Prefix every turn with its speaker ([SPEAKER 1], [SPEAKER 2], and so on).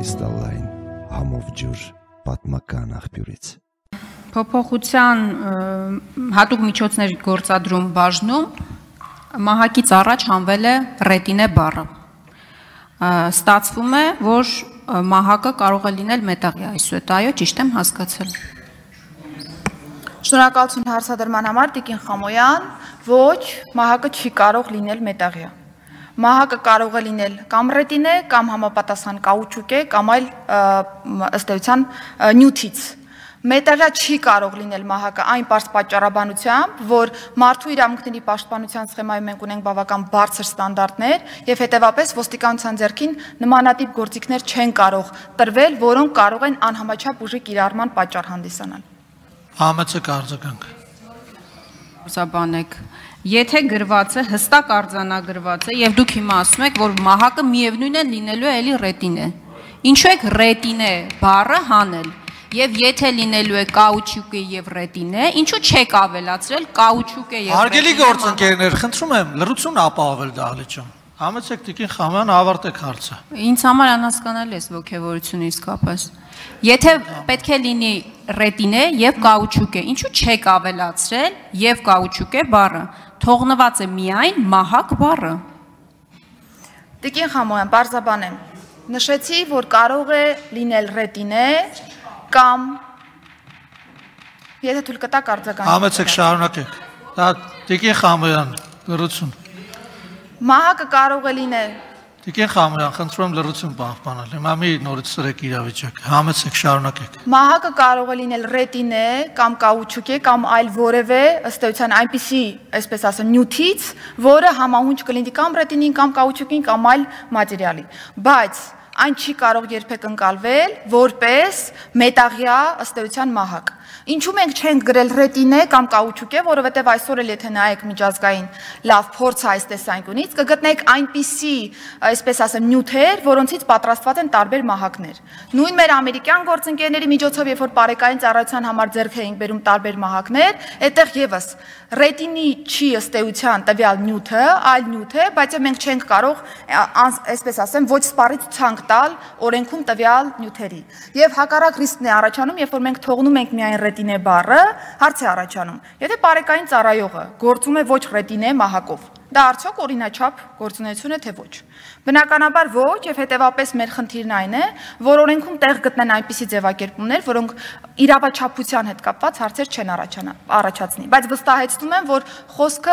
[SPEAKER 1] կրիստալային համով ջուր պատմական աղբյուրից։
[SPEAKER 2] Փոփոխության հատուկ միջոցներ գործադրում բաժնում մահակից առաջ հանվել է ռետինե բառը։ Ստացվում է, որ մահակը կարող է լինել մետաղյա, այսուհետ այո, ճիշտ եմ հասկացել։
[SPEAKER 3] Շնորհակալություն հարցադրման համար, Տիկին Խամոյան, ոչ, մահակը չի կարող լինել մետաղյա։ Մահակը կարող է լինել կամ ռետինե, կամ համապատասխան կաուչուկ է, կամ այլ ըստ էության նյութից։ Մետաղյա չի կարող լինել մահակը այն պարզ պատճառաբանությամբ, որ մարդու իրավունքների պաշտպանության սխեմայում մենք ունենք բավական բարձր ստանդարտներ եւ հետեւաբար ոստիկանության ձեռքին նմանատիպ գործիքներ չեն կարող տրվել, որոնք կարող են անհամաչափ ուժի կիրառման պատճառ հանդիսանալ։
[SPEAKER 4] Համեցեք արձագանք։
[SPEAKER 2] Ուսաբանեք, եթե գրված է, հստակ արձանագրված է եւ դուք հիմա ասում եք, որ մահակը միևնույն է լինելու է էլի ռետինե։ Ինչու եք ռետինե բառը հանել։ Եվ եթե լինելու է կաուչուկ եւ ռետինե, ինչու չեք ավելացրել կաուչուկ եւ ռետինե։
[SPEAKER 4] Հարգելի գործընկերներ, խնդրում եմ լրություն ապահովել դահլիճում։ Համեցեք Տիկին Խամոյան, ավարտեք հարցը։
[SPEAKER 2] Ինձ համար անհասկանալի է ողջավորությունը իսկապես։ Եթե պետք է լինի ռետինե եւ կաուչուկ է, ինչու չեք ավելացրել եւ կաուչուկ է բառը։ Թողնված է միայն մահակ բառը։
[SPEAKER 3] Տիկին Խամոյան, բարձաբանեմ։ Նշեցի, որ կարող է լինել ռետինե կամ եթե թույլ կտակ արձագանք։
[SPEAKER 4] Համեցեք շարունակեք։ Դա Տիկին Խամոյան, լրություն։
[SPEAKER 3] Մահակը կարող է լինել։
[SPEAKER 4] Տիկին Խամոյան, խնդրում եմ լրություն պահպանել։ Հիմա մի նորից սրեք իրավիճակը։ Համեցեք շարունակեք։
[SPEAKER 3] Մահակը կարող է լինել ռետինե կամ կաուչուկ է կամ այլ որևէ ըստ էության այնպիսի, այսպես ասեմ, նյութից, որը համահունչ կլինի կամ ռետինին կամ կաուչուկին կամ այլ մատերիալի։ Բայց այն չի կարող երբեք ընկալվել որպես մետաղյա ըստ էության մահակ։ Ինչու մենք չենք գրել ռետինե կամ կաուչուկ է, որովհետև այսօր էլ եթե նայեք միջազգային լավ փորձ այս տեսանկյունից, կգտնեք այնպիսի, այսպես ասեմ, նյութեր, որոնցից պատրաստված են տարբեր մահակներ։ Նույն մեր ամերիկյան գործընկերների միջոցով, երբ որ բարեկային ծառայության համար ձեռք էինք բերում տարբեր մահակներ, այդտեղ եւս ռետինի չի ըստ էության տվյալ նյութը, այլ նյութ է, բայց մենք չենք կարող, այսպես ասեմ, ոչ սպառից ցանկ տալ օրենքում տվյալ նյութերի։ Եվ հակառակ ռիսկն է առաջանում, երբ որ մենք թողնում ենք միայն ռետինե բառը, հարց է առաջանում։ Եթե բարեկային ծառայողը գործում է ոչ ռետինե մահակով, դա արդյոք օրինաչափ գործունեություն է թե ոչ։ Բնականաբար ոչ, եւ հետեւապես մեր խնդիրն այն է, որ օրենքում տեղ գտնեն այնպիսի ձևակերպումներ, որոնք իրավաչափության հետ կապված հարցեր չեն առաջացնի։ Բայց վստահեցնում եմ, որ խոսքը